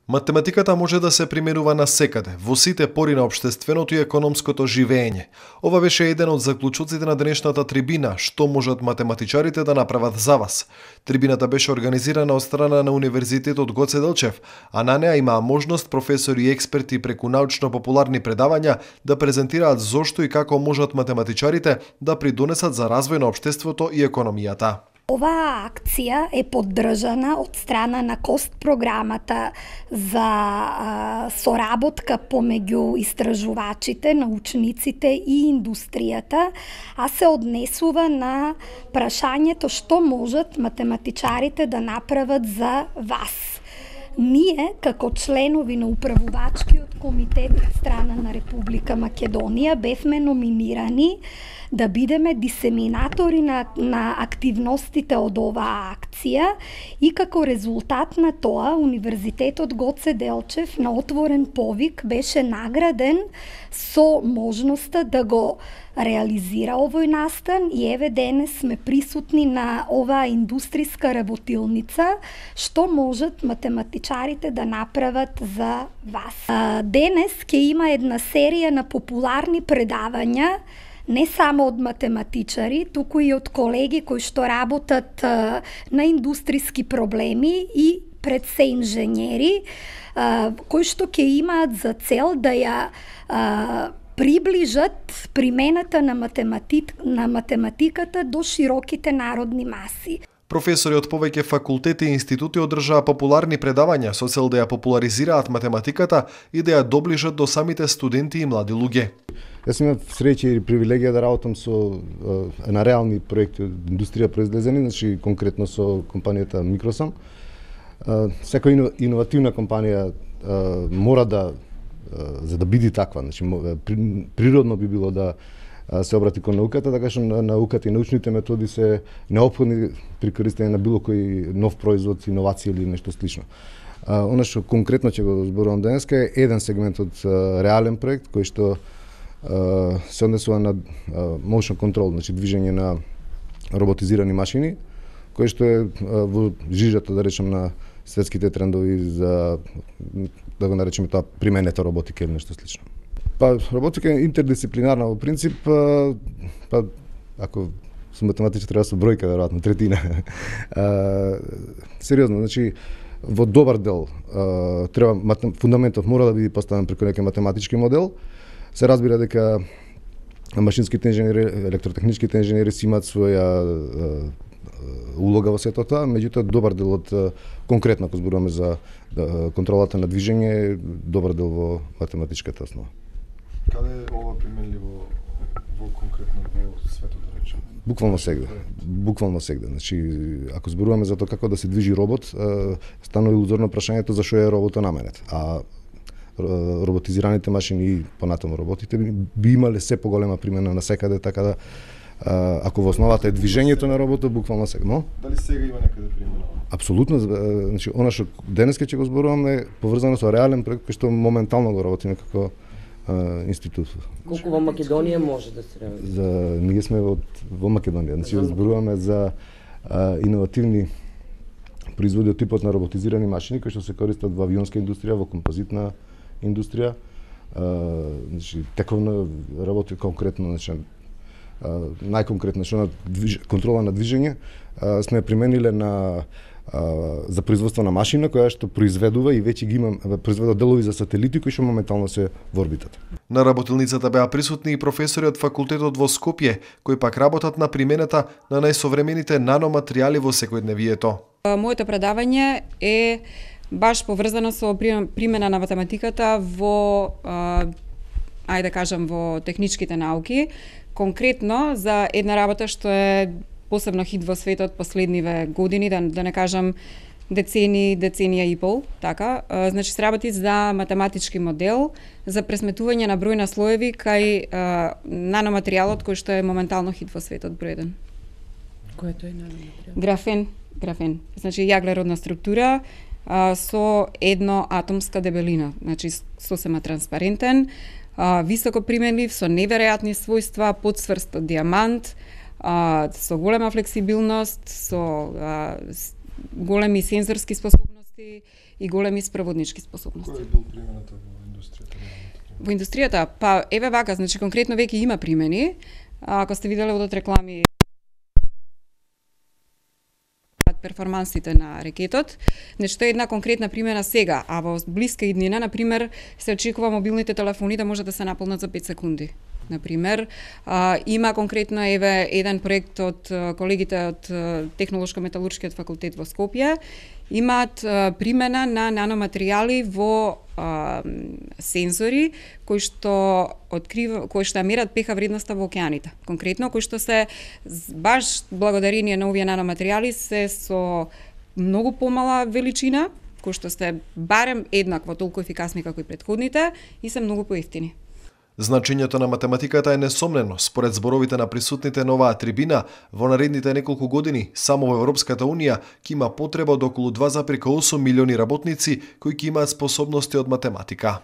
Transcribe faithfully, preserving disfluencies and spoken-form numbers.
Математиката може да се применува на секаде, во сите пори на општественото и економското живење. Ова беше еден од заклучоците на денешната трибина, што можат математичарите да направат за вас. Трибината беше организирана од страна на Универзитетот Гоце Делчев, а на неа имаа можност професори и експерти преку научно-популарни предавања да презентираат зошто и како можат математичарите да придонесат за развој на општеството и економијата. Оваа акција е поддржана од страна на КОСТ програмата за а, соработка помеѓу истражувачите, научниците и индустријата, а се однесува на прашањето што можат математичарите да направат за вас. Ние, како членови на управувачкиот комитет од страна на Република Македонија, бевме номинирани да бидеме дисеминатори на, на активностите од оваа акција и како резултат на тоа Универзитетот Гоце Делчев на отворен повик беше награден со можноста да го реализира овој настан и еве денес сме присутни на оваа индустријска работилница што можат математичарите да направат за вас. Денес ќе има една серија на популарни предавања не само од математичари, туку и од колеги кои што работат а, на индустријски проблеми и пред се инженери, а, кои што ќе имаат за цел да ја а, приближат примената на, математик, на математиката до широките народни маси. Професори од повеќе факултети и институти одржаа популарни предавања со цел да ја популаризираат математиката и да ја доближат до самите студенти и млади луѓе. Јас имав среќа и привилегија да работам со е, на реални проекти од индустрија произлезени, значи конкретно со компанијата Microsom. Секоја иновативна компанија е, мора да е, за да биде таква, значи природно би било да се обрати кон науката, така што науката и научните методи се неопходни при користење на било кој нов производ, иновација или нешто слично. Она што конкретно ќе го зборувам денеска е еден сегмент од реален проект кој што се однесува на motion control, значи движење на роботизирани машини, кој што е во жижата, да речем, на светските трендови за, да го наречеме тоа, применета роботика или нешто слично. Па, роботика е интердисциплинарна во принцип, па, па ако сум математичар треба со бројка, веројатно, третина. а, сериозно, значи, во добар дел а, треба, фундаментот мора да биде поставен преку некој математички модел. Се разбира дека машинските инженери, електротехничките инженери си имаат своја улога во сето тоа, меѓутоа добар дел од конкретно ако зборуваме за контролата на движење, добар дел во математичката основа. Каде е ова применливо во конкретно во светот, да речеме? Буквално сегде. Буквално сегде. Значи, ако зборуваме за тоа како да се движи робот, станува илузорно прашањето за што е роботот наменет. А роботизираните машини и понатаму роботите би имале се поголема примена на секаде, така да ако во основата е движењето на роботот, буквално сега. Но? Дали сега има некаде примена? Апсолутно, значи она што денеска ќе го зборуваме е поврзано со реален проект кој што моментално го работиме како а, институт. Колку во Македонија може да се реализира? За ние сме од во Македонија, значи зборуваме за а, иновативни производи од типот на роботизирани машини кои што се користат во авионска индустрија, во композитна индустрија, а, значи тековна работи конкретно, значи најконкретно што на движ... контрола на движење а, сме примениле на а, за производство на машина која што произведува и веќе ги има произведува делови за сателити кои што моментално се во орбитата. На работилницата беа присутни и професори од факултетот во Скопје, кои пак работат на примената на најсовремените наноматеријали во секојдневието. Моето предавање е баш поврзано со примена на математиката во ајде да кажам во техничките науки, конкретно за една работа што е посебно хит во светот последниве години, да, да не кажам децени, деценија и пол, така. Значи се работи за математички модел за пресметување на број на слоеви кај а, наноматеријалот кој што е моментално хит во светот број еден. Кој е тој наноматеријал? Графен, графен. Значи јаглеродна структура а, со едно атомска дебелина, значи сосема транспарентен, а, високо применлив, со неверојатни својства, подсврст од диамант, со голема флексибилност, со а, големи сензорски способности способности и големи спроводнички способности. Кој е бил примената во индустријата? Во индустријата, па еве вака, значи конкретно веќе има примени. Ако сте виделе од реклами перформансите на рекетот, нешто е една конкретна примена сега, а во блиска иднина, на пример, се очекува мобилните телефони да може да се наполнат за пет секунди. На пример, а, има конкретно еве еден проект од колегите од Технолошко-металуршкиот факултет во Скопје, имаат а, примена на наноматеријали во а, сензори кои што открива, кои што мерат пеха вредноста во океаните. Конкретно кои што се баш благодарение на овие наноматеријали се со многу помала величина, кои што се барем еднакво толку ефикасни како и претходните и се многу поевтини. Значењето на математиката е несомнено. Според зборовите на присутните на оваа трибина, во наредните неколку години, само во Европската Унија ќе има потреба од околу два зарем осум милиони работници кои ќе имаат способности од математика.